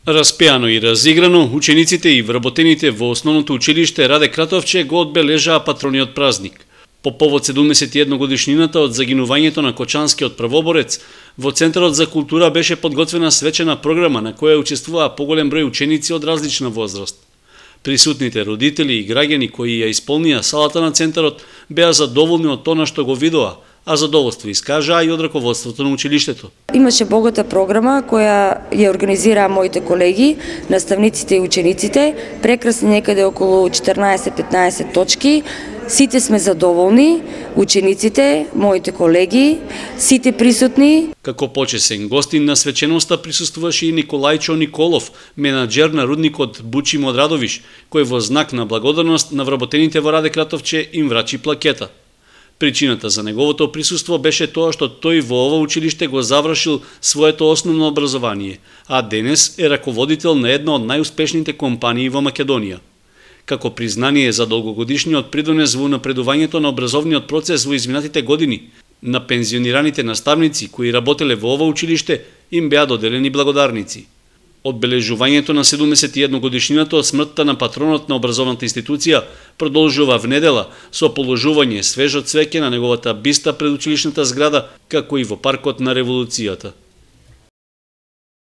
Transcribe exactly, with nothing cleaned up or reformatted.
Распеано и разиграно, учениците и вработените во основното училиште Раде Кратовче го одбележаа патрониот празник. По повод седумдесет и една годишнината од загинувањето на Кочанскиот првоборец, во Центарот за култура беше подготвена свечена програма на која учествуваа поголем број ученици од различна возраст. Присутните родители и граѓани кои ја исполнија салата на Центарот беа задоволни од тоа што го видоа, а задоволство искажаа и од раководството на училиштето. Имаше богата програма која ја организираа моите колеги, наставниците и учениците, прекрасни некаде околу четиринаесет-петнаесет точки. Сите сме задоволни, учениците, моите колеги, сите присутни. Како почесен гостин на свеченоста присуствуваше и Николајчо Николов, менаџер на рудникот Бучим од Радовиш, кој во знак на благодарност на вработените во Раде Кратовче им врачи плакета. Причината за неговото присуство беше тоа што тој во ова училиште го завршил своето основно образование, а денес е раководител на една од најуспешните компании во Македонија. Како признание за долгогодишниот придонес во напредувањето на образовниот процес во изминатите години, на пензионираните наставници кои работеле во ова училиште им беа доделени благодарници. Одбележувањето на седумдесет и една годишнината од смртта на патронот на образовната институција продолжува внедела со положување свежо цвеќе на неговата биста пред училишната зграда, како и во паркот на Револуцијата.